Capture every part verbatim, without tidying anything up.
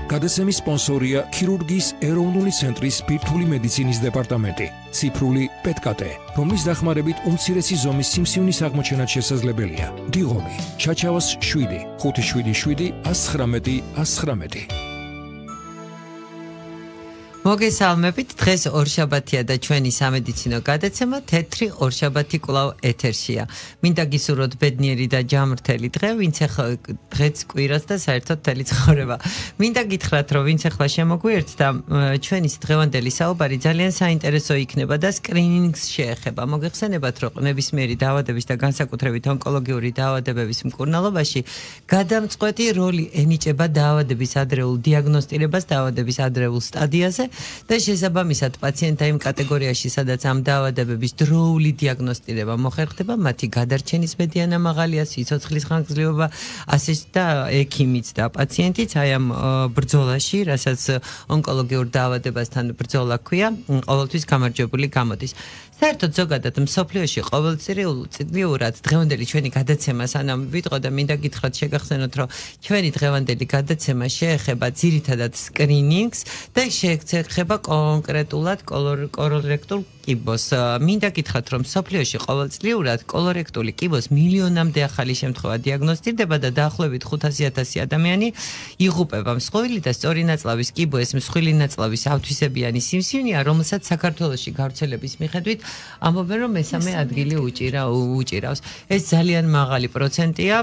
გადაცემის სპონსორია ქირურგიის ეროვნული ცენტრის ბირთვული მედიცინის დეპარტამენტი, ციფრული პეტკატე, რომლის დახმარებით უმცირესი ზომის სიმსივნის აღმოჩენაც შესაძლებელია. დიღომი, ჩაჩავას შვიდი, ხუთი შვიდი შვიდი, ას ცხრამეტი, ას ცხრამეტი. მოგესალმებით, დღეს ორშაბათია და ჩვენი სამედიცინო გადაცემა თეთრი ორშაბათი კვლავ ეთერშია. მინდა გისურვოთ ბედნიერი და ჯამრთელი დღე, ვინც ახლა დღეც კვირას და საერთოდ მთელი ცხოვრება. მინდა გითხრათ, რომ ვინც ახლა შემოგვიერთდა, ჩვენი დღევანდელი საუბარი ძალიან საინტერესო იქნება და სკრინინგს შეეხება. მოგეხსენებათ, რომ ნებისმიერი დაავადების და განსაკუთრებით ონკოლოგიური დაავადებების მკურნალობაში გადამწყვეტი როლი ენიჭება დაავადების ადრეულ დიაგნოსტირებას, დაავადების ადრეულ სტადიაზე. და შესაბამისად პაციენტთა იმ კატეგორიაში, სადაც ამ დაავადებების დროული დიაგნოსტირება მოხერხდება, მათი გადარჩენის მედიანა მაღალია, სიცოცხლის ხანგრძლივობა, ასე და ექიმიც და პაციენტიც აი ამ ბრძოლაში, რასაც ონკოლოგიურ დაავადებასთან ბრძოლა ქვია, ყოველთვის გამარჯვებული გამოდის. საერთოდ ზოგადად მსოფლიოში ყოველწლიურად დღევანდელი ჩვენი გადაცემა სანამ ვიტყო და მინდა გითხრათ შეგახსენოთ, რომ ჩვენი დღევანდელი გადაცემა შეეხება ძირითადად სკრინინგს და შეეხება კონკრეტულად კოლორექტულ კიბოს. მინდა გითხრათ, რომ მსოფლიოში ყოველწლიურად კოლორექტული კიბოს მილიონამდე ახალი შემთხვევა დიაგნოსტირდება და დაახლოებით ხუთასი ათასი ადამიანი იღუპება. მსხვილი და სწორი ნაწლავის კიბო ეს მსხვილი ნაწლავის ავთვისებიანი სიმსივნეა, რომელსაც საქართველოში გავრცელების მიხედვით ამბობენ, რომ მესამე ადგილი უჭირა უჭირავს. ეს ძალიან მაღალი პროცენტია.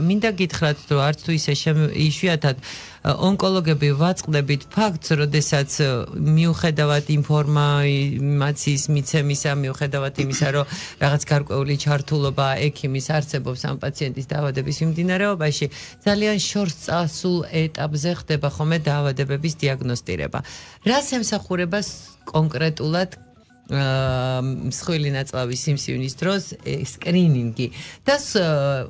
მინდა გითხრათ, რომ არც თუ ისე იშვიათად ონკოლოგები ვაწყდებით ფაქტს, როდესაც მიუხედავად ინფორმაციის მიცემისა, მიუხედავად იმისა, რომ რაღაც გარკვეული ჩართულობა ექიმის არსებობს ამ პაციენტის დაავადების მიმდინარეობაში, ძალიან შორს წასულ ეტაპზე ხდება ხოლმე დაავადებების დიაგნოსტირება. რას ემსახურება კონკრეტულად მსხვილი ნაწლავის სიმსივნის დროს სკრინინგი და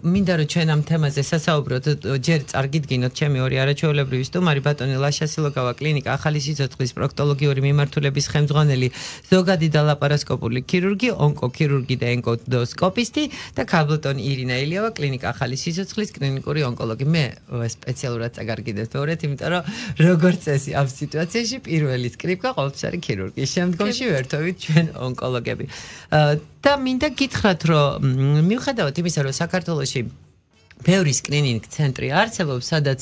მინდა რომ ჩვენ ამ თემაზე სასაუბროთ, ჯერ წარგიდგინოთ ჩემი ორი არაჩვეულებრივი სტუმარი, ბატონი ლაშა სილოგავა, კლინიკა ახალი სიცოცხლის პროქტოლოგიური მიმართულების ხელმძღვანელი, ზოგადი და ლაპარასკოპული ქირურგი, ონკოქირურგი და ენდოსკოპისტი და ქაბლტონ ირინა ელიავა, კლინიკა ახალი სიცოცხლის კლინიკური ონკოლოგი. მე სპეციალურად წაგარგიდეთ მეორეთ, იმიტომ რომ როგორც წესი ამ სიტუაციაში პირველი სკრიპტა ყოველთვის არის ქირურგი, შემდგომში ვერთობით ჩვენ ონკოლოგები. და მინდა გითხრათ, რომ მიუხედავად იმისა, რომ საქართველოში ბევრი სკრინინგ ცენტრი არსებობს, სადაც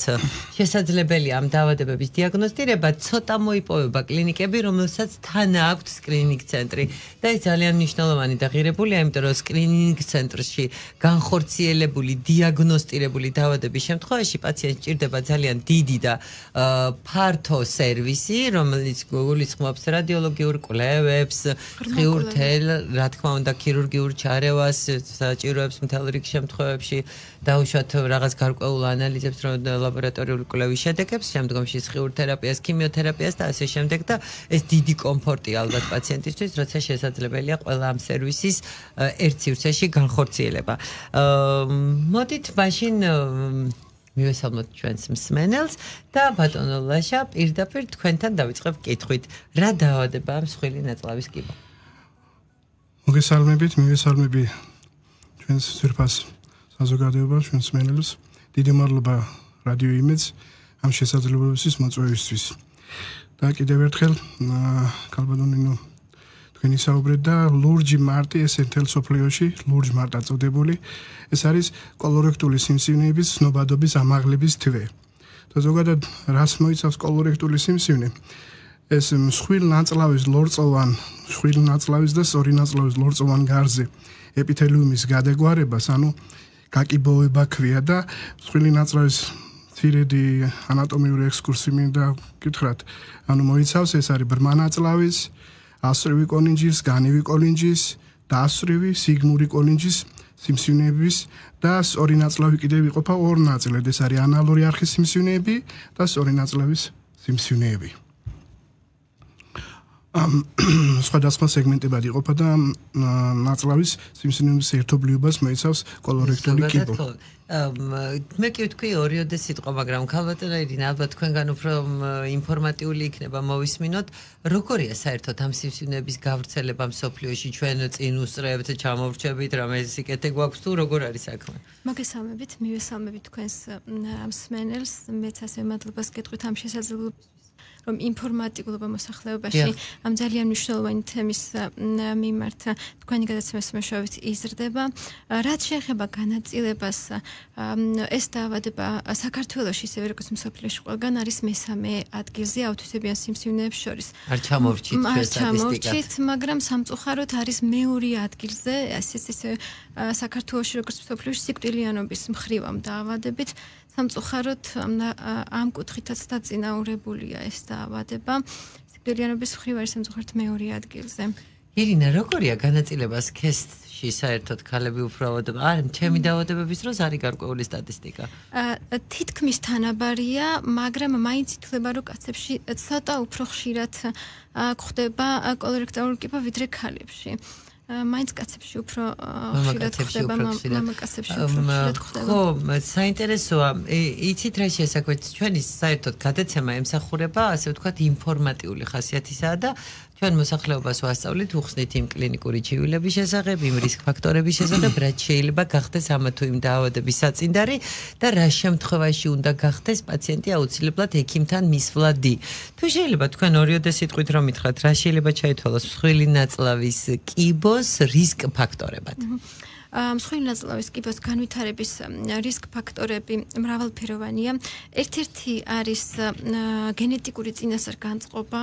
შესაძლებელია ამ დაავადებების დიაგნოსტირება, ცოტა მოიპოვება კლინიკები, რომელსაც თან აქვთ სკრინინგ ცენტრი და ეს ძალიან მნიშვნელოვანი და ღირებულია, იმიტომ რომ სკრინინგ ცენტრში განხორციელებული დიაგნოსტირებული დაავადების შემთხვევაში პაციენტს ჭირდება ძალიან დიდი და ფართო სერვისი, რომელიც გულისხმობს რადიოლოგიურ კვლევებს, ღიურ თელ, რა თქმა უნდა, ქირურგიულ ჩარევას, საჭიროებს მთელ რიგ შემთხვევებში დაუშვათ რაღაც გარკვეულ ანალიზებს, ლაბორატორიული კვლევის შედეგებს, შემდგომში სხიურ თერაპიას, ქიმიოთერაპიას და ასე შემდეგ და ეს დიდი კომფორტია ალბათ პაციენტისთვის, როცა შესაძლებელია ყველა ამ სერვისის ერთ სივრცეში განხორციელება. მოდით მაშინ მივესალმოთ ჩვენს მსმენელს და ბატონო ლაშა, პირდაპირ თქვენთან დავიწყებ კითხვით, რა დაავადებაა მსხვილი ნაწლავის კიბო? მოგესალმებით, მივესალმები ჩვენს ძვირფას საზოგადოებას, ჩვენს მსმენელს. დიდი მადლობა რადიო იმედს ამ შესაძლებლობების მოწვევისთვის. და კიდევ ერთხელ ქალბატონინო თქვენი საუბრეთ და ლურჯი მარტი ეს მთელ სოფლიოში, ლურჯ მარტა წოდებული, ეს არის კოლორექტული სიმსივნეების ცნობადობის ამაღლების თვე. და ზოგადად რას მოიცავს კოლორექტული სიმსივნე? ეს მსხვილ ნაწლავის ლორწოვან, მსხვილ ნაწლავის და სწორი ნაწლავის ლორწოვან გარზე ეპითელიუმის გადაგვარებას, ანუ გაკიბოება ქვია და მსხვილი ნაწლავის ცირედი ანატომიური ექსკურსი მინდა გითხრათ, ანუ მოიცავს ეს არის ბრმა ნაწლავის, ასწრივი კოლინჯის, განივი კოლინჯის, დასწრივი სიგმური კოლინჯის სიმსივნეების და სწორი ნაწლავი კიდევ იყოფა ორ ნაწილად, ეს არის ანალური არხის სიმსივნეები და სწორი ნაწლავის სიმსივნეები. სხვადასხვა სეგმენტებად იყოფა და ნაწლავის სიმსივნეების ერთობლიობას მოიცავს კოლორექტული კიბო. მე კი ვთქვი ორიოდე სიტყვა, მაგრამ ქალბატონო ირინა, ალბათ თქვენგან უფრო ინფორმატიული იქნება მოვისმინოთ, როგორია საერთოდ ამ სიმსივნეების გავრცელება მსოფლიოში, ჩვენ წინ უსწრებთ, ჩამოვრჩებით, რამე სიკეთე გვაქვს თუ როგორ არის საქმე? მოგესალმებით, მივესალმებით თქვენს მსმენელს, მეც ასე მადლობას გეტყვით ამ შესაძლებლობისთვის, რომ ინფორმატიულობა მოსახლეობაში ამ ძალიან მნიშვნელოვანი თემის მიმართ თქვენი გადაცემის მეშვეობით იზრდება. რაც შეეხება განაწილებას, ეს დაავადება საქართველოში, ისევე როგორც მსოფლიოში ყველგან არის მესამე ადგილზე აუთიზმიან სიმსივნეებს შორის. არ ჩამოვრჩით სტატისტიკად, მაგრამ სამწუხაროდ არის მეორე ადგილზე, ასეც ისე საქართველოში როგორც მსოფლიოში სიკვდილიანობის მხრივ ამ დაავადებით. სამწუხაროდ ამ კუთხითაც დაწინაურებულია ეს დაავადება. სიკვდილიანობის მხრივ არის სამწუხაროდ მეორე ადგილზე. ირინა, როგორია განაწილება სქესში საერთოდ ქალები უფრო ავადდება? არ, ჩემი დაავადებების დროს არის გარკვეული სტატისტიკა. თითქმის თანაბარია, მაგრამ მაინც ითვლება, რომ კაცებში ცოტა უფრო ხშირად გვხდება კოლორექტული კიბო ვიდრე ქალებში. მაინც კაცებში უფრო ხშირად ხდება, მამაკაცებში უფრო ხშირად ხდება. ხო, საინტერესოა. იცით რა შესაძლოა, ჩვენი საერთოდ გადაცემა ემსახურება, ასე ვთქვათ, ინფორმატიული ხასიათისაა და ჩვენ მოსახლეობას ვასწავლით უხსნით იმ კლინიკური ჩივილების შესახებ, იმ რისკ ფაქტორების შესახებ, რაც შეიძლება გახდეს ამა თუ იმ დაავადების საწინდარი და რა შემთხვევაში უნდა გახდეს პაციენტი აუცილებლად ექიმთან მისვლადი. თუ შეიძლება თქვენ ორიოდე სიტყვით რომ მითხრათ, რა შეიძლება ჩაითვალოს მსხვილი ნაწლავის კიბოს რისკ ფაქტორებად? მსხვილი ნაწლავის კიბოს განვითარების რისკ ფაქტორები მრავალფეროვანია. ერთ-ერთი არის გენეტიკური წინასწარ-განწყობა,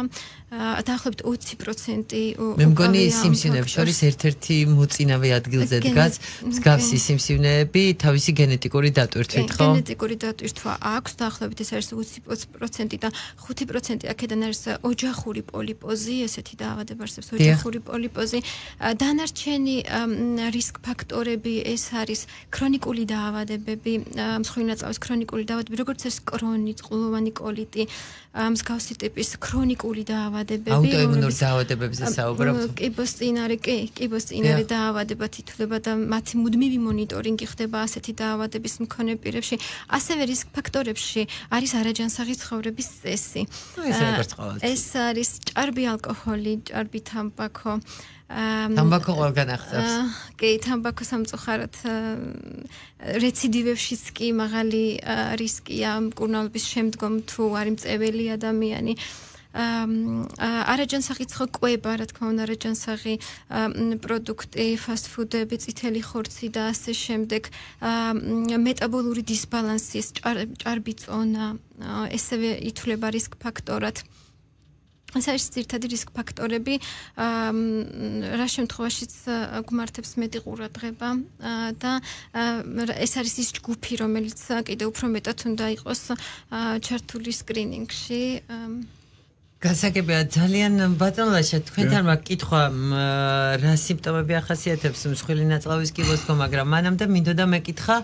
დაახლოებით ოცი პროცენტი. მე მგონი სიმსივნეებს შორის ერთ-ერთი მოწინავე ადგილზე დგას მსგავსი სიმსივნეები თავისი გენეტიკური დატვირთვით, ხო? გენეტიკური დატვირთვა აქვს, დაახლოებით ეს არის ოცი პროცენტი და ხუთი პროცენტი აქედან არის ოჯახური პოლიპოზი, ესეთი დაავადება არსებობს, ოჯახური პოლიპოზი. დანარჩენი რისკ ფაქტორები ეს არის ქრონიკული დაავადებები, მსხვილი ნაწლავის ქრონიკული დაავადებები, როგორც ეს კრონი, წყლოვანი კოლიტი, მსგავსი ტიპის ქრონიკული დაავადებები, აუტოიმუნურ დაავადებებზე საუბრობთ. კიბოსწინარე, კი, კიბოსწინარე დაავადებად ითვლება და მათი მუდმივი მონიტორინგი ხდება ასეთი დაავადების მქონე პირებში. ასევე რისკ ფაქტორებში არის არაჯანსაღი ცხოვრების წესი. ეს არის ჭარბი ალკოჰოლი, ჭარბი თამბაქო. თამბაქო ყველგან აღწევს. კი, თამბაქო სამწუხაროდ რეციდივებშიც კი მაღალი რისკია მკურნალობის შემდგომ თუ არის მწეველი ადამიანი. არაჯანსაღი კვება, რა თქმა უნდა, არაჯანსაღი პროდუქტი, ფასტფუდები, წითელი ხორცი და ასე შემდეგ, მეტაბოლური დისბალანსი, ჭარბი წონა, ესევე ითვლება რისკ ფაქტორად. ეს არის ძირითადი რისკ ფაქტორები, რა შემთხვევაშიც გვმართებს მეტი ყურადღება და ეს არის ის ჯგუფი, რომელიც კიდევ უფრო მეტად უნდა იყოს ჩართული სკრინინგში. გასაგებია ძალიან ბატონლაშა თქვენთან მაქვს კითხვა რა სიმპტომები ახასიათებს მსხვილი ნაწლავის კიბოს ხო, მაგრამ მანამდე მინდოდა მეკითხა,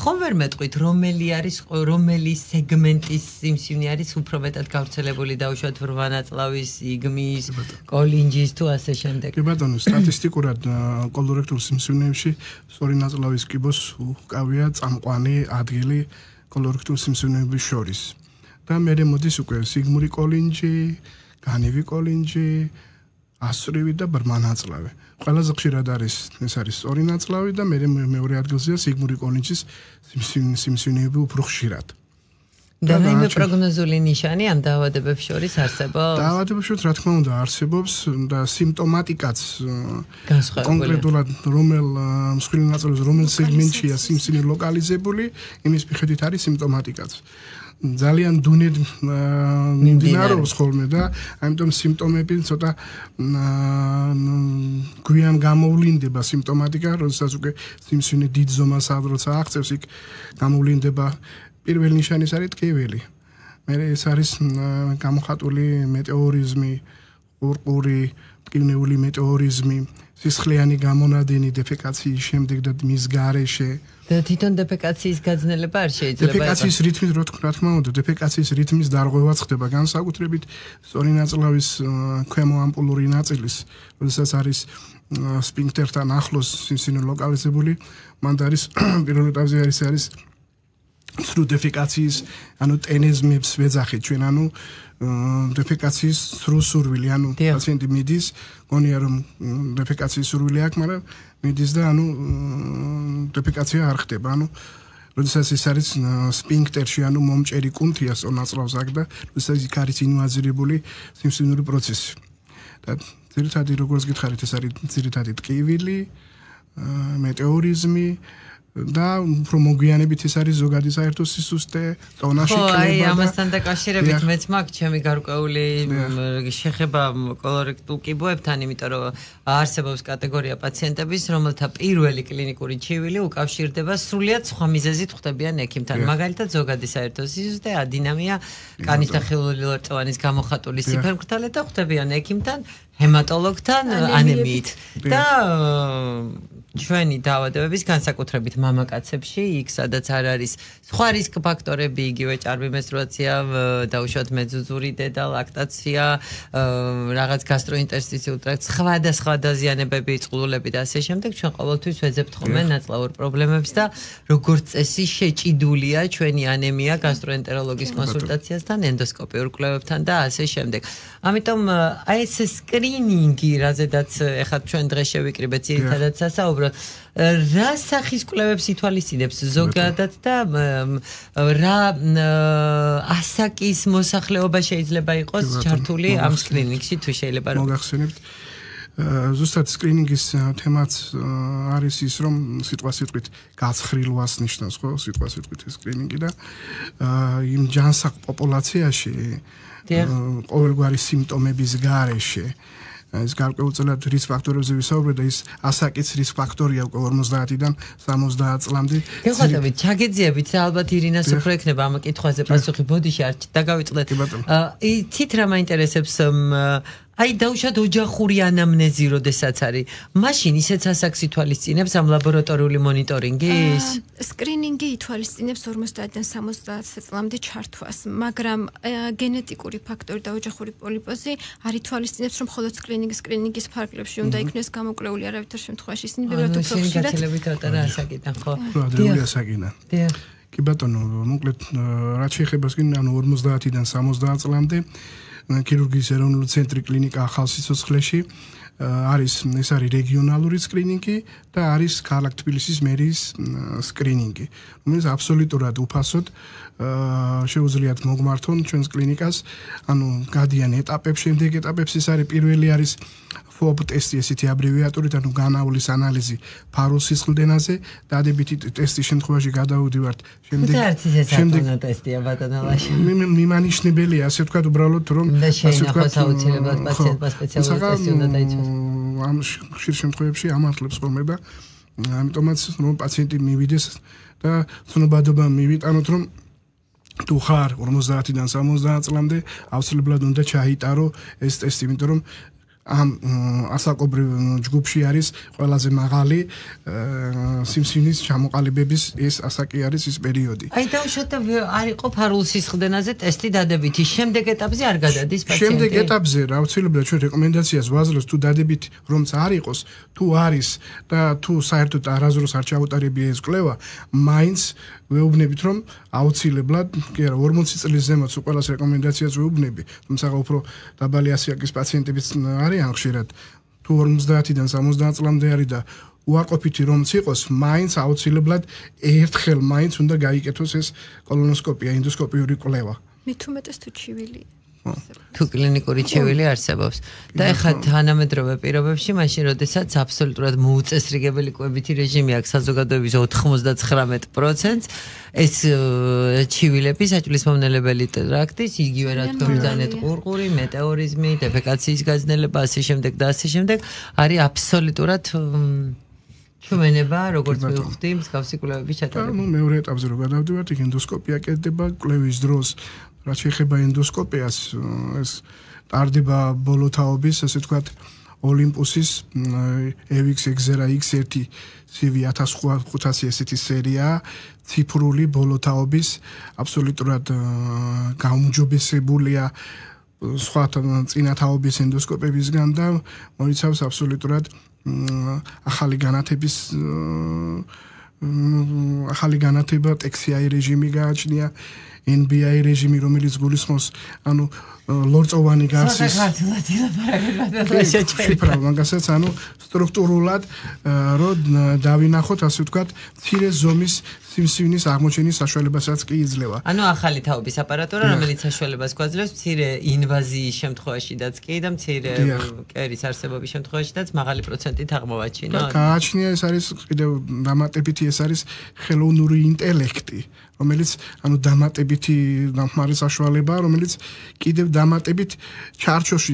ხომ ვერ მეტყვით რომელი არის რომელი სეგმენტის სიმსივნე არის უფრო მეტად გავრცელებული დავუშვათ ბრმა ნაწლავის, იგმის, კოლინჯის თუ ასე შემდეგ. კი ბატონო, სტატისტიკურად კოლორექტულ სიმსივნეებში სწორი ნაწლავის კიბოს უკავია წამყვანი ადგილი კოლორექტულ სიმსივნეების შორის. და მერე მოდის უკვე სიგმური კოლინჯი, განივი კოლინჯი, ასწვრივი და ბრმა ნაწლავი. ყველაზე ხშირად არის ეს არის სწორი ნაწლავი და მერე მეორე ადგილზეა სიგმური კოლინჯის სიმსივნეები უფრო ხშირად. და რაიმე პროგნოზული ნიშანი ამ დაავადებებს შორის არსებობს? დაავადებებს შორის რა თქმა უნდა არსებობს და სიმპტომატიკაც კონკრეტულად რომელ მსხვილი ნაწლავის რომელ სეგმენტშია სიმსივნე ლოკალიზებული, იმის მიხედვით არის სიმპტომატიკაც. ძალიან დუნედ მიმდინარეობს ხოლმე და ამიტომ სიმპტომები ცოტა გვიან გამოვლინდება სიმპტომატიკა, როდესაც უკვე სიმსივნე დიდ ზომას როცა აღწევს, იქ გამოვლინდება პირველი ნიშანის არის ტკივილი. მერე ეს არის გამოხატული მეტეორიზმი, ყურყური, ტკივნეული მეტეორიზმი, სისხლიანი გამონადენი დეფეკაციის შემდეგ და მის გარეშე და თვითონ დეფეკაციის გაძნელება არ შეიძლება დეფეკაციის რითმის რო რა თქმა უნდა დეფეკაციის რითმის დარღვევაც ხდება განსაკუთრებით სწორი ნაწლავის ქვემო ამპულური ნაწილის როდესაც არის სფინქტერთან ახლოს სიმსივნე ლოკალიზებული მანდ არის პირველ ეტაპზე არის არის სრულ დეფეკაციის ანუ ტენეზმებს ვეძახით ჩვენ ანუ დეფეკაციის სრულ სურვილი ანუ პაციენტი მიდის გონია რომ დეფეკაციის სურვილი აქვს მაგრამ მიდის და ანუ დეფეკაცია არ ხდება ანუ როდესაც ეს არის სფინქტერში ანუ მომჭერი კუნთია სწორ ნაწლავს აქ და როდესაც იქ არის ინვაზირებული სიმსივნური პროცესი და ძირითადად როგორც გითხარით ეს არის ძირითადად ტკივილი მეტეორიზმი და უფრო მოგვიანებით ეს არის ზოგადი საერთო სისუსტე, ტონაში კლება. ხო, აი ამასთან დაკავშირებით მეც მაქვს ჩემი გარკვეული შეხება კოლორექტულ კიბოებთან, იმიტომ რომ არსებობს კატეგორია პაციენტების, რომელთა პირველი კლინიკური ჩივილი უკავშირდება სრულიად სხვა მიზეზით ხვდებიან ექიმთან. მაგალითად, ზოგადი საერთო სისუსტე, ადინამია, კანის და ხილული ლორწოვანის გამოხატული სიფერმკრთალე და ხვდებიან ექიმთან, ჰემატოლოგთან, ანემიით. და ჩვენი დაავადებების განსაკუთრებით მამაკაცებში, იქ სადაც არ არის სხვა რისკ ფაქტორები, იგივე ჭარბი მენსტრუაცია, დაუშვათ მეძუძური დედა, ლაქტაცია, რაღაც გასტროინტერსტიციულ ტრაქტს, სხვა და სხვა დაზიანებები, წყლულები და ასე შემდეგ, ჩვენ ყოველთვის ვეძებთ ხოლმე ნაწლავურ პრობლემებს და როგორც წესი შეჭიდულია ჩვენი ანემია გასტროენტეროლოგის კონსულტაციასთან, ენდოსკოპიურ კვლევებთან და ასე შემდეგ. ამიტომ აი ეს სკრინინგი, რაზედაც ეხლა ჩვენ დღეს შევიკრიბეთ ძირითადად სასაუბრად რა სახის კვლევებს ითვალისწინებს ზოგადად და რა ასაკის მოსახლეობა შეიძლება იყოს ჩართული ამ სკრინინგში თუ შეიძლება რომ მოგახსენებთ ზუსტად სკრინინგის თემაც არის ის რომ სიტყვა სიტყვით გაცხრილვას ნიშნავს ხო სიტყვა სიტყვით სკრინინგი და იმ ჯანსაღ პოპულაციაში ყოველგვარი სიმპტომების გარეშე ეს გარკვეულწილად რისკ ფაქტორებზე ვისაუბრეთ და ის ასაკის რისკ ფაქტორია უკვე ორმოცდაათიდან სამოცდაათ წლამდე. გეხსოვებით, ჩაგეძიებით და ალბათ ირინას უფრო ექნება ამ კითხვაზე პასუხი. ბოდიში არ დაგავიწყდეთ. იცით რა მაინტერესებს აი დაუშვათ ოჯახური ანამნეზი როდესაც არის. მაშინ ისეც ასაკს ითვალისწინებს ამ ლაბორატორიული მონიტორინგის? სკრინინგი ითვალისწინებს ორმოცდაათიდან სამოცდაათ წლამდე ჩართვას, მაგრამ გენეტიკური ფაქტორი და ოჯახური პოლიპოზი არ ითვალისწინებს, რომ მხოლოდ სკრინინგის სკრინინგის ფარგლებში უნდა იქნეს გამოკვლეული არავითარ შემთხვევაში. ისინი ბევრად უფრო ხშირად გაცილებით ატარა ასაკიდან, ხო? ადრეული ასაკიდან. დიახ. კი ბატონო, მოკლედ რაც შეეხება სკრინინგს, ანუ ორმოცდაათიდან სამოცდაათ წლამდე ქირურგიის ეროვნული ცენტრი კლინიკა ახალსიცოცხლეში არის ეს არის რეგიონალური სკრინინგი და არის ქალაქ თბილისის მერიის სკრინინგი, რომელიც აბსოლუტურად უფასოდ შეუძლიათ მოგმართონ ჩვენს კლინიკას, ანუ გადიან ეტაპებს, შემდეგ ეტაპებს ის არის პირველი არის ფობ ტესტი ესეთი აბრევიატურით, ანუ განავლის ანალიზი ფარულ სისხლდენაზე, დადებითი ტესტის შემთხვევაში გადავდივართ შემდეგ შემდეგ ტესტია ბატონალაში. მიმანიშნებელია, ასე ვთქვათ, უბრალოდ რომ ასე ვთქვათ, აუცილებლად პაციენტმა სპეციალური ტესტი უნდა დაიცვას. ამ ხშირ შემთხვევებში ამართლებს ხოლმე და ამიტომაც რომ პაციენტი მივიდეს და ცნობადობა მივიტანოთ, რომ თუ ხარ ორმოცდაათიდან სამოცდაათ წლამდე აუცილებლად უნდა ჩაიტარო ეს ტესტი, იმიტომ რომ ამ ასაკობრივ ჯგუფში არის ყველაზე მაღალი სიმსივნის ჩამოყალიბების ეს ასაკი არის ის პერიოდი. აი დაუშვათ არ იყო ფარულ სისხლდენაზე ტესტი დადებითი, შემდეგ ეტაპზე არ გადადის პაციენტი. შემდეგ ეტაპზე რა აუცილებლად ჩვენ რეკომენდაციას ვაძლევს თუ დადებითი რომც არ იყოს, თუ არის და თუ საერთოდ არასდროს არ ჩაუტარებია ეს კვლევა, მაინც ვეუბნებით რომ აუცილებლად კი არა ორმოცი წლის ზემოთ უყველას რეკომენდაციას ვეუბნები, თუმცა უფრო დაბალი ასაკის პაციენტებიც არიან ხშირად თუ ორმოცდაათიდან სამოცდაათ წლამდე არის და უარყოფითი რომც იყოს, მაინც აუცილებლად ერთხელ მაინც უნდა გაიკეთოს ეს კოლონოსკოპია, ენდოსკოპიური კვლევა. მით უმეტეს თუ ჩივილი თუ კლინიკური ჩივილი არსებობს და ეხლა თანამედროვე პირობებში მაშინ როდესაც აბსოლუტურად მოუწესრიგებელი კვებითი რეჟიმი აქვს საზოგადოების ოცდათხმეტ პროცენტს ეს ჩივილები საჭმლის-მომნელებელი ტრაქტის იგივე რა თქმა უნდა ყურყური, მეტეორიზმი, დეფეკაციის გაძნელება, ასე შემდეგ და ასე შემდეგ არის აბსოლუტურად ჩვენება როგორც მივხვდი მსგავსი კვლევების ჩატარება. ნუ მეორე ეტაპზე რო გადავდივართ, იქ ენდოსკოპია კეთდება კვლევის დროს. რაც შეეხება ენდოსკოპიას, ეს ტარდება ბოლო თაობის, ასე ვთქვათ, ოლიმპუსის ევიქს ეგზერა იქს ერთი ცივი ათას ხუთასი ესეთი სერია ციფრული ბოლოთაობის აბსოლუტურად გაუმჯობესებულია სხვა წინათაობის ენდოსკოპებისგან და მოიცავს აბსოლუტურად ახალი განათების ახალი განათება ტექსი-აი რეჟიმი გააჩნია ენ ბი აი რეჟიმი რომელიც გულისხმობს ანუ ლორწოვანი გარსის შიფრა მაგასაც ანუ სტრუქტურულად რო დავინახოთ ასე ვთქვათ მცირე ზომის სიმსივნის აღმოჩენის საშუალებასაც კი იძლევა. ანუ ახალი თაობის აპარატურა რომელიც საშუალებას გვაძლევს მცირე ინვაზიის შემთხვევაშიდაც კი და მცირე კერის არსებობის შემთხვევაშიდაც მაღალი პროცენტით აღმოვაჩინოთ. გააჩნია ეს არის კიდევ დამატებითი ეს არის ხელოვნური ინტელექტი რომელიც ანუ დამატებითი დამხმარე საშუალება რომელიც კიდევ დამატებით ჩარჩოში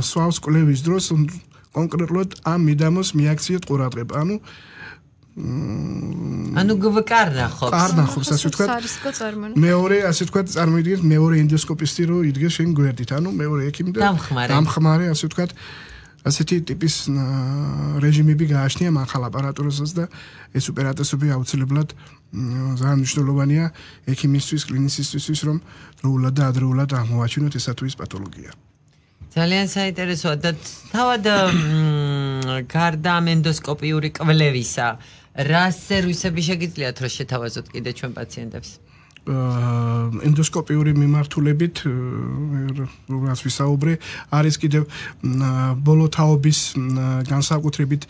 სვავს კვლევის დროს კონკრეტულად ამ მიდამოს მიაქციეთ ყურადღება. ანუ ანუ გვკარნახობს. კარნახობს ასე ვთქვათ. მეორე ასე ვთქვათ წარმოიდგინეთ მეორე ენდოსკოპისტი რო იდგეს შენ გვერდით. ანუ მეორე ექიმი და დამხმარე ასე ვთქვათ ასეთი ტიპის რეჟიმები გააჩნია მაღალ აპარატურასაც და ეს ოპერატორები აუცილებლად ძალიან მნიშვნელოვანია ექიმისთვის, კლინიცისტისთვის რომ დროულად და ადრეულად აღმოვაჩინოთ ესა თუ ის პათოლოგია. ძალიან საინტერესოა და თავად გარდა ამ ენდოსკოპიური კვლევისა რა სერვისები შეგიძლიათ რომ შეთავაზოთ კიდე ჩვენ პაციენტებს? ენდოსკოპიური მიმართულებით რაც ვისაუბრე არის კიდევ ბოლოთაობის განსაკუთრებით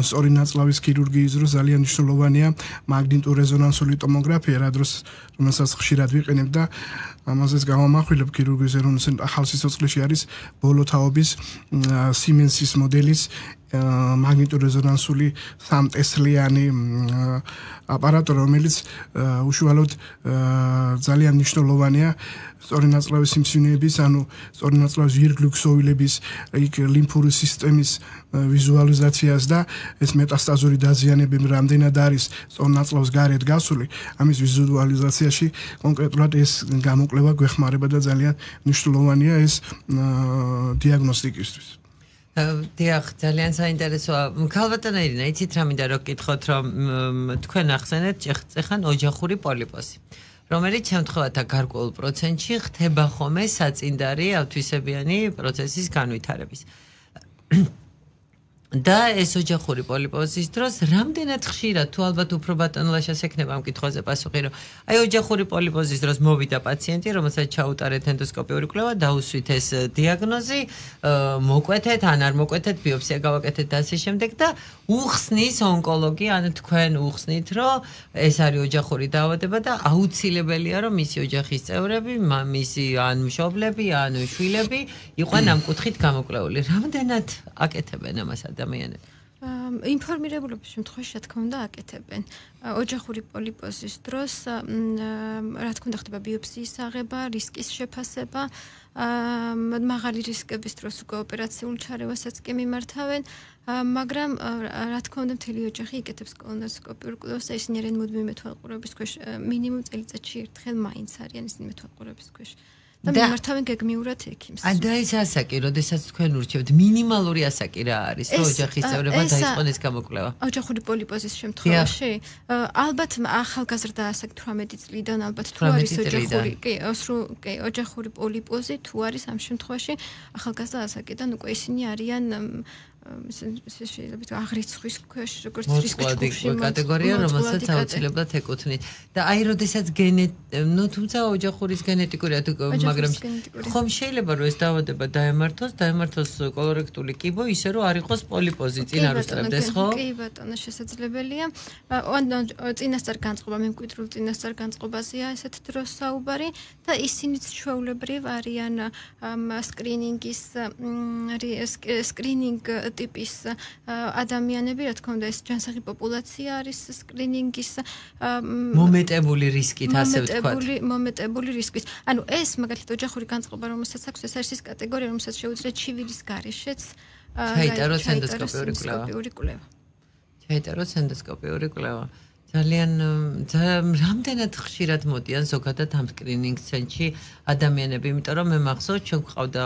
სწორი ნაწლავის ქირურგიის დროს ძალიან მნიშვნელოვანია მაგნიტურ-რეზონანსული ტომოგრაფია რა დროს რომელსაც ხშირად ვიყენებ და ამაზეც გავამახვილებ ქირურგიის ეროვნულ ახალ სიცოცხლეში არის ბოლოთაობის სიმენსის მოდელის მაგნიტურ-რეზონანსული სამტესლიანი აპარატურა რომელიც უშუალოდ ძალიან მნიშვნელოვანია სწორი ნაწლავის სიმსივნეების ანუ სწორი ნაწლავის ირგლუქსოვილების იქ ლიმფური სისტემის ვიზუალიზაციას და ეს მეტასტაზური დაზიანებები რამდენად არის სწორი ნაწლავის გარეთ გასული ამის ვიზუალიზაციაში კონკრეტულად ეს გამოკვლევა გვეხმარება და ძალიან მნიშვნელოვანია ეს დიაგნოსტიკისთვის. დიახ, ძალიან საინტერესოა. ქალბატონო ირინა, იცით რა მინდა რომ გითხოთ, რომ თქვენ ახსენეთ წეხან ოჯახური პოლიპოზი, რომელიც შემთხვევათა გარკვეულ პროცენტში ხდება ხოლმე საწინდარი ავთვისებიანი პროცესის განვითარების. და ეს ოჯახური პოლიპოზის დროს რამდენად ხშირად თუ ალბათ უფრო ბატონ ლაშას ექნება ამ კითხვაზე პასუხი რომ აი ოჯახური პოლიპოზის დროს მოვიდა პაციენტი რომელსაც ჩაუტარეთ ენდოსკოპიური კვლევა დაუსვით ეს დიაგნოზი მოკვეთეთ ან არ მოკვეთეთ ბიოპსია გავაკეთეთ და ასე შემდეგ და უხსნის ონკოლოგი ან თქვენ უხსნით რომ ეს არის ოჯახური დაავადება და აუცილებელია რომ მისი ოჯახის წევრები მისი ან მშობლები ან შვილები იყვნენ ამ კუთხით გამოკვლეული რამდენად აკეთებენ ამას ადამიანები ინფორმირებულობის შემთხვევაში რა თქმა უნდა აკეთებენ ოჯახური პოლიპოზის დროს რა თქმა უნდა ხდება ბიოპსიის აღება რისკის შეფასება მაღალი რისკების დროს უკვე ოპერაციულ ჩარევასაც კი მიმართავენ მაგრამ რა თქმა უნდა მთელი ოჯახი იკეთებს კოლონოსკოპიურ კვლევას და ისინი არიან მუდმივი მეთვალყურების ქვეშ მინიმუმ წელიწადში ერთხელ მაინც არიან ისინი მეთვალყურების ქვეშ და მიმართავენ გეგმიურად ექიმს. და ის ასაკი, როდესაც თქვენ ურჩევთ, მინიმალური ასაკი რა არის, რომ ოჯახის წევრებმა დაიწყონ ეს გამოკვლევა? ოჯახური პოლიპოზის შემთხვევაში, ალბათ ახალგაზრდა ასაკი თვრამეტი წლიდან, ალბათ თუ არის ოჯახური, კი, კი, ოჯახური პოლიპოზი თუ არის ამ შემთხვევაში, ახალგაზრდა ასაკიდან უკვე ისინი არიან შეიძლება აღრიცხვის ქვეშ როგორც რისკის ჯგუფში კატეგორია რომელსაც აუცილებლად ეკუთვნით და აი როდესაც გენეტ ნუ თუმცა ოჯახურის გენეტიკურია მაგრამ ხომ შეიძლება რომ ეს დაავადება დაემართოს დაემართოს კოლორექტული კიბო ისე რომ არ იყოს პოლიპოზი წინ არ უსწრებდეს ხო კი ბატონო შესაძლებელია წინასწარ განწყობა მემკვიდრულ წინასწარ განწყობაზეა ესეთ დროს საუბარი და ისინიც ჩვეულებრივ არიან სკრინინგის სკრინინგ ტიპის ადამიანები, რა თქმა უნდა, ეს ჯანსაღი პოპულაცია არის სკრინინგის მომეტებული რისკით, ასე ვთქვათ. მომეტებული რისკით. ანუ ეს მაგალითად ოჯახური განწყობა, რომელსაც აქვს, ეს არის ის კატეგორია, რომელსაც შეუძლია ჩივილის გარეშეც ჩაიტაროს ენდოსკოპიური კვლევა. ჩაიტაროს ენდოსკოპიური კვლევა. ძალიან რამდენად ხშირად მოდიან ზოგადად ამ სკრინინგ ცენტრში ადამიანები, იმიტომ რომ მე მახსოვს ჩვენ გვყავდა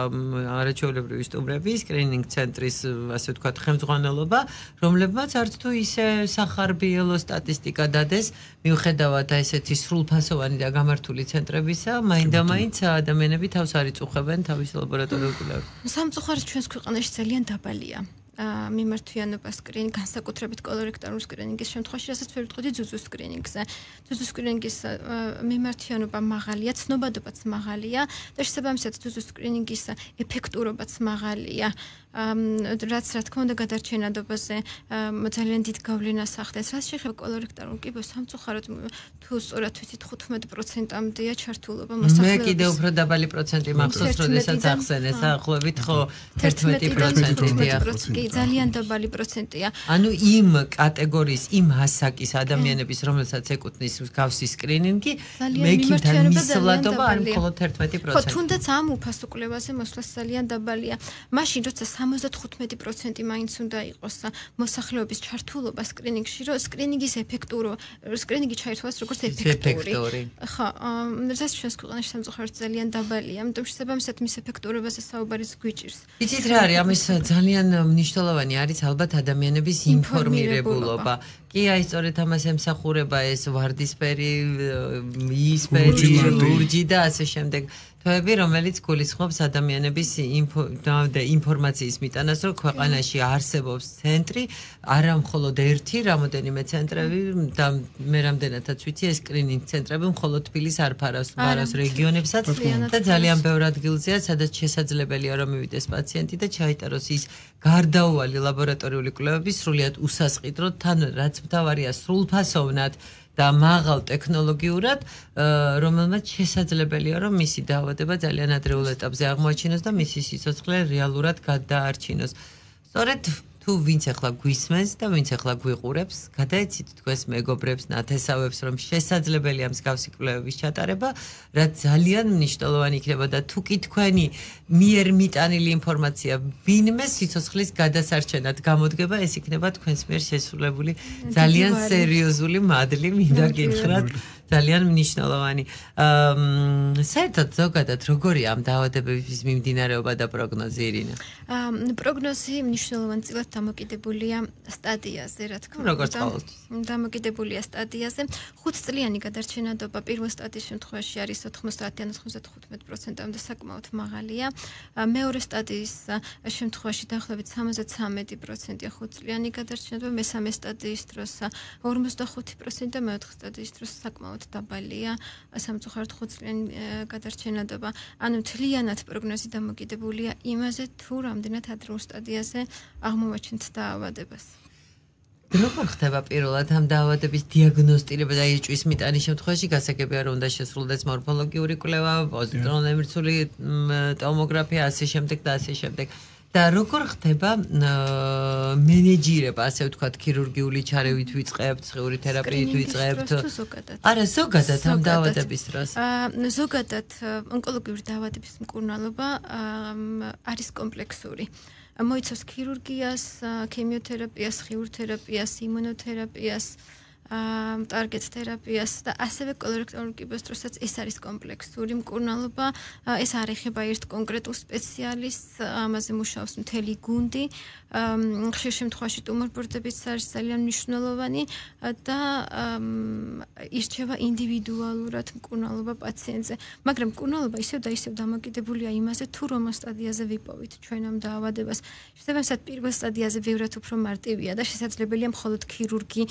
არაჩვეულებრივი სტუმრები სკრინინგ ცენტრის ასე ვთქვათ ხელმძღვანელობა, რომლებმაც არც თუ ისე სახარბიელო სტატისტიკა დადეს, მიუხედავად ესეთი სრულფასოვანი და გამართული ცენტრებისა, მაინდა-მაინც ადამიანები თავს არ იწუხებენ თავის ლაბორატორიულ კვლევებს. სამწუხაროდ ჩვენს ქვეყანაში ძალიან დაბალია. მიმართვიანობა სკრინინგ განსაკუთრებით კოლორექტორულ სკრინინგის შემთხვევაში, რასაც ვერ ვიტყოდი ძუძუ სკრინინგზე. ძუძუ სკრინინგის მიმართვიანობა მაღალია, ცნობადობაც მაღალია და შესაბამისად ძუძუ სკრინინგის ეფექტურობაც მაღალია. რაც რა თქმა უნდა გადარჩენადობაზე ძალიან დიდ გავლენას ახდენს. რაც შეეხება კოლორექტორულ კიბოს, სამწუხაროდ თუ სწორად ვიცით თხუთმეტ პროცენტამდეა ჩართულობა მოსახლეობის. მე კიდევ უფრო დაბალი პროცენტი მახსოვს, როდესაც ახსენეს ახლობით ხო თერთმეტი პროცენტია. ძალიან დაბალი პროცენტია. ანუ იმ კატეგორიის, იმ ასაკის ადამიანების, რომელსაც ეკუთვნის გავსი სკრინინგი, მექიმთან მისვლადობა არ მხოლოდ თერთმეტი პროცენტი. ხო, თუნდაც ამ უფასო კვლევაზე მოსვლას ძალიან დაბალია. მაშინ როცა სამოცდათხუთმეტი პროცენტი მაინც უნდა იყოს მოსახლეობის ჩართულობა სკრინინგში, რომ სკრინინგის ეფექტურო, სკრინინგი ჩაერთვას როგორც ეფექტური. ხო, რასაც ჩვენს ქვეყანაში სამწუხაროდ ძალიან დაბალია, ამიტომ შესაბამისად მის ეფექტურობაზე საუბარიც გვიჭირს. იცით რა არის, ამის ძალიან მნიშვნელოვანი არის ალბათ ადამიანების ინფორმირებულობა. კი, აი სწორედ ამას ემსახურება ეს ვარდისფერი, იისფერი, ლურჯი და ასე შემდეგ. თვეები, რომელიც გულისხმობს ადამიანების ინფორმაციის მიტანას, რომ ქვეყანაში არსებობს ცენტრი, არა მხოლოდ ერთი, რამოდენიმე ცენტრები და მე რამდენადაც ვიცი, ეს სკრინინგ ცენტრები მხოლოდ თბილისს არ ფარავს, ფარავს რეგიონებსაც და ძალიან ბევრ ადგილზეა, სადაც შესაძლებელია რომ მივიდეს პაციენტი და ჩაიტაროს ის გარდაუვალი ლაბორატორიული კვლევები სრულიად უსასყიდროდ, თან რაც მთავარია სრულფასოვნად და მაღალ ტექნოლოგიურად, რომელმაც შესაძლებელია რომ მისი დაავადება ძალიან ადრეულ ეტაპზე აღმოაჩინოს და მისი სიცოცხლე რეალურად გადაარჩინოს. სწორედ თუ ვინც ახლა გვისმენს და ვინც ახლა გვიყურებს, გადაეცით თქვენს მეგობრებს, ნათესავებს, რომ შესაძლებელია მსგავსი კვლევების ჩატარება, რაც ძალიან მნიშვნელოვანი იქნება და თუ კი თქვენი მიერ მიტანილი ინფორმაცია ვინმე სიცოცხლის გადასარჩენად გამოდგება, ეს იქნება თქვენს მიერ შესრულებული ძალიან სერიოზული მადლი, მინდა გითხრათ. ძალიან მნიშვნელოვანი. საერთოდ ზოგადად როგორია ამ დაავადებების მიმდინარეობა და პროგნოზი, ირინა? პროგნოზი მნიშვნელოვანწილად დამოკიდებულია სტადიაზე, რა თქმა უნდა. როგორც ყოველთვის. დამოკიდებულია სტადიაზე. ხუთწლიანი გადარჩენადობა პირველ სტადიის შემთხვევაში არის ოთხმოცდაათიდან ოცდათხუთმეტ პროცენტამდე საკმაოდ მაღალია. მეორე სტადიის შემთხვევაში დაახლოებით სამოცდათრამეტი პროცენტია ხუთწლიანი გადარჩენადობა, მესამე სტადიის დროს ორმოცდახუთი პროცენტი და მეოთხე სტადიის დროს საკმაოდ დაბალია სამწუხაროდ ხუთწლიანი გადარჩენადობა. ანუ მთლიანად პროგნოზი დამოკიდებულია იმაზე, თუ რამდენად ადრეულ სტადიაზე აღმოვაჩენთ დაავადებას. როგორ ხდება პირველად ამ დაავადების დიაგნოსტირება და ეჭვის მიტანის შემთხვევაში? გასაგებია რომ უნდა შესრულდეს მორფოლოგიური კვლევა, პოზიტრონებრცული ტომოგრაფია, ასე შემდეგ და ასე შემდეგ. და როგორ ხდება მენეჯირება, ასე ვთქვათ, ქირურგიული ჩარევით ვიწყებთ, სხეული თერაპიით ვიწყებთ? არა, ზოგადად ამ დაავადების დროს. ზოგადად ონკოლოგიური დაავადების მკურნალობა არის კომპლექსური. მოიცავს ქირურგიას, ქიმიოთერაპიას, ხიურთერაპიას, იმუნოთერაპიას, ტარგეტ თერაპიას და ასევე კოლორექტორულ კიბოს დროსაც ეს არის კომპლექსური მკურნალობა. ეს არ ეხება ერთ კონკრეტულ სპეციალისტს, ამაზე მუშაობს მთელი გუნდი. ხშირ შემთხვევაში ტუმორბორდებიც არის ძალიან მნიშვნელოვანი და ირჩევა ინდივიდუალურად მკურნალობა პაციენტზე. მაგრამ მკურნალობა ისევ და ისევ დამოკიდებულია იმაზე, თუ რომელ სტადიაზე ვიპოვით ჩვენ ამ დაავადებას. შესაბამისად, პირველ სტადიაზე ბევრად უფრო მარტივია და შესაძლებელია მხოლოდ ქირურგი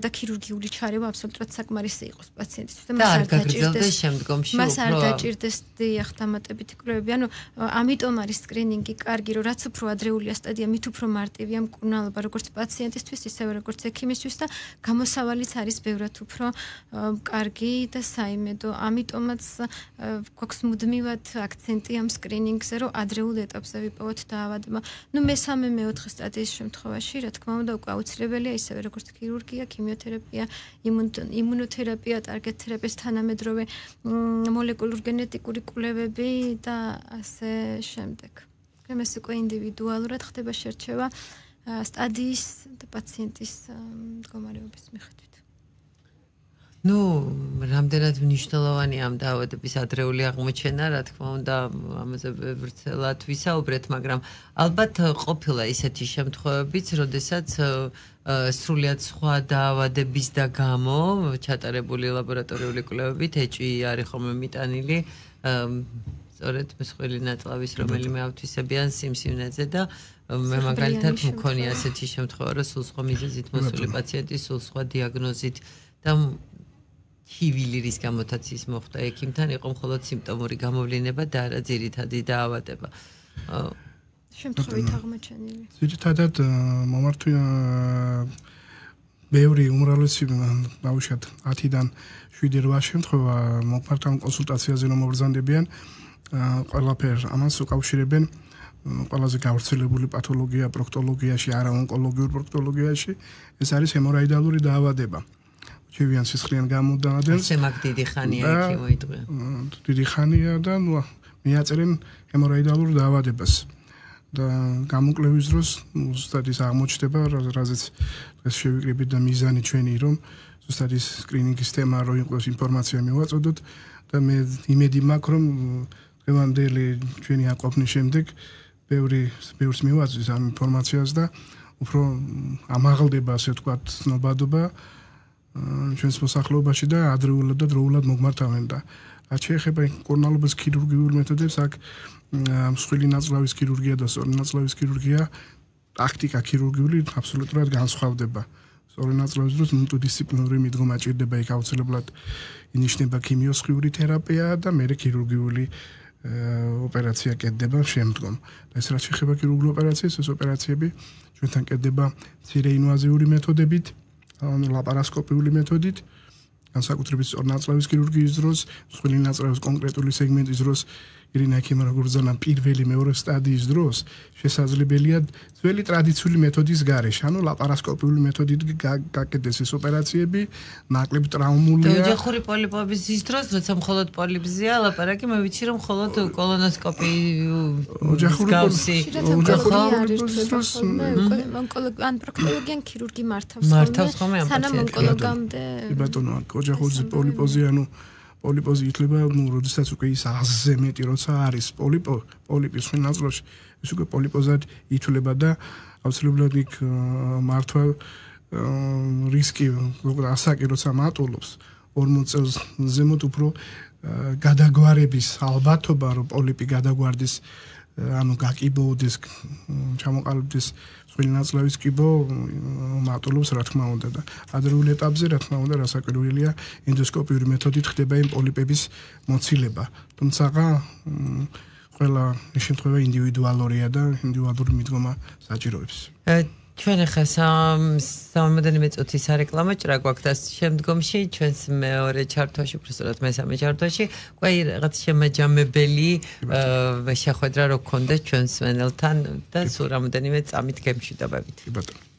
და ქირურგიული ჩარევა აბსოლუტურად საკმარისი იყოს პაციენტისთვის და მას არ დაჭირდეს შემდგომში მას არ დაჭირდეს დიახ დამატებითი კვლევები. ანუ ამიტომ არის სკრინინგი კარგი, რომ რაც უფრო ადრეულია სტადია, მით უფრო მარტივია მკურნალობა როგორც პაციენტისთვის, ისევე როგორც ექიმისთვის და გამოსავალიც არის ბევრად უფრო კარგი და საიმედო. ამიტომაც გვაქვს მუდმივად აქცენტი ამ სკრინინგზე, რომ ადრეულ ეტაპზე ვიპოვოთ დაავადება. ნუ მესამე, მეოთხე სტადიის შემთხვევაში, რა თქმა უნდა, უკვე აუცილებელია ისევე როგორც ქირურგია, ქიმიოთერაპია, იმუნოთერაპია, ტარგეტ თერაპიის თანამედროვე მოლეკულურ გენეტიკური კვლევები და ასე შემდეგ. ეს უკვე ინდივიდუალურად ხდება შერჩევა სტადიის და პაციენტის მდგომარეობის მიხედვით. ნუ რამდენად მნიშვნელოვანი ამ დაავადების ადრეული აღმოჩენა, რა თქმა უნდა, ამაზე ვრცელად ვისაუბრეთ, მაგრამ ალბათ ყოფილა ისეთი შემთხვევებიც, როდესაც სრულიად სხვა დაავადების და გამო ჩატარებული ლაბორატორიული კვლევებით ეჭვი არის ხოლმე მიტანილი სწორედ მსხვილი ნაწლავის რომელიმე ავთვისებიან სიმსივნეზე და მე მაგალითად მქონია ასეთი შემთხვევა, რომ სულ სხვა მიზეზით მოსული პაციენტი სულ სხვა დიაგნოზით და ჰივილი რის გამოთაც ის მოხდა ექიმთან იყო მხოლოდ სიმპტომური გამოვლინება და არა ძირითადი დაავადება. შემთხვევით აღმოჩენილი. ძირითადად მომართვი ბევრი უმრავლესი ბავშვად ათიდან შვიდი რვა შემთხვევა მომხმართან კონსულტაციაზე რომ მობრძანდებიან ყველაფერს ამას უკავშირებენ ყველაზე გავრცელებული პათოლოგია პროქტოლოგიაში, არა ონკოლოგიურ პროქტოლოგიაში ეს არის ჰემოროიდალური დაავადება. ჩევიან სისხლიან გამოდადენს. ესე მაგ დიდი ხანია იქ მოიწვია. დიდი ხანია და ნუ მიაწერენ ჰემოროიდალურ დაავადებას. და გამოკვლევის დროს ზუსტად ის აღმოჩნდება, რაზეც დღეს შევიკრიბეთ და მიზანი ჩვენი რომ ზუსტად ის სკრინინგის თემა რო იყოს ინფორმაცია მივაწოდოთ და მე იმედი მაქვს რომ დღევანდელი ჩვენი აყოფნის შემდეგ ბევრი ბევრს მივაწვდის ამ ინფორმაციას და უფრო ამაღლდება ასე ვთქვათ ცნობადობა ჩვენს მოსახლეობაში და ადრეულად და დროულად მოგმართავენ და რაც შეეხება კორნალობის ქირურგიულ მეთოდებს აქ მსხვილი ნაწლავის ქირურგია და სწორი ნაწლავის ქირურგია ტაქტიკა ქირურგიული აბსოლუტურად განსხვავდება. სწორი ნაწლავის დროს მულტიდისციპლინური მიდგომა ჭირდება, იქ აუცილებლად ინიშნება ქიმიოსხიური თერაპია და მერე ქირურგიული ოპერაცია კეთდება შემდგომ. და ეს რაც შეეხება ქირურგიულ ოპერაციას, ეს ოპერაციები ჩვენთან კეთდება მცირე ინვაზიური მეთოდებით, ანუ ლაპარასკოპიული მეთოდით, განსაკუთრებით სწორი ნაწლავის ქირურგიის დროს, მსხვილი ნაწლავის კონკრეტული სეგმენტის დროს ირინა ექიმი როგორც ზანა პირველი მეორე სტადიის დროს შესაძლებელია ძველი ტრადიციული მეთოდის გარეშე, ანუ ლაპარასკოპიული მეთოდით გაკეთდეს ეს ოპერაციები, ნაკლებ ტრაუმულია. ოჯახური პოლიპობის ზის დროს, როცა მხოლოდ პოლიპზია ლაპარაკი, მე ვიცი რომ მხოლოდ კოლონოსკოპი ოჯახური პოლიპობის დროს ონკოლოგი ან პროქტოლოგი ან ქირურგი მართავს ხოლმე. მართავს ხოლმე ამ სანამ ონკოლოგამდე. ბატონო, ოჯახური პოლიპოზი ანუ პოლიპოზი ითვლება, ну, როდესაც უკვე ის აზზე მეტი როცა არის პოლიპო, პოლიპის ხელ ნაწლავში, ის უკვე პოლიპოზად ითვლება და აუცილებლად იქ მართვა რისკი, როგორ ასაკი როცა მატულობს ორმოც წელს ზემოთ უფრო გადაგვარების ალბათობა, რომ პოლიპი გადაგვარდეს, ანუ გაკიბოდეს, ჩამოყალიბდეს ხელ ნაწლავის კიბო მატულობს რა თქმა უნდა და ადრეულ ეტაპზე რა თქმა უნდა რასაკვირველია ენდოსკოპიური მეთოდით ხდება იმ პოლიპების მოცილება. თუმცა ყველა შემთხვევა ინდივიდუალურია და ინდივიდუალური მიდგომა საჭიროებს. ჩვენ ახლა სამოდენიმე წუთის სარეკლამო ჭრა გვაქვს და შემდგომში ჩვენს მეორე ჩართვაში, უბრალოდ მესამე ჩართვაში, ყველა რაღაც შემაჯამებელი შეხვედრა რო გქონდეს ჩვენს მენელთან და სულ რამოდენიმე წამით გემშვიდობებით. კი ბატონო.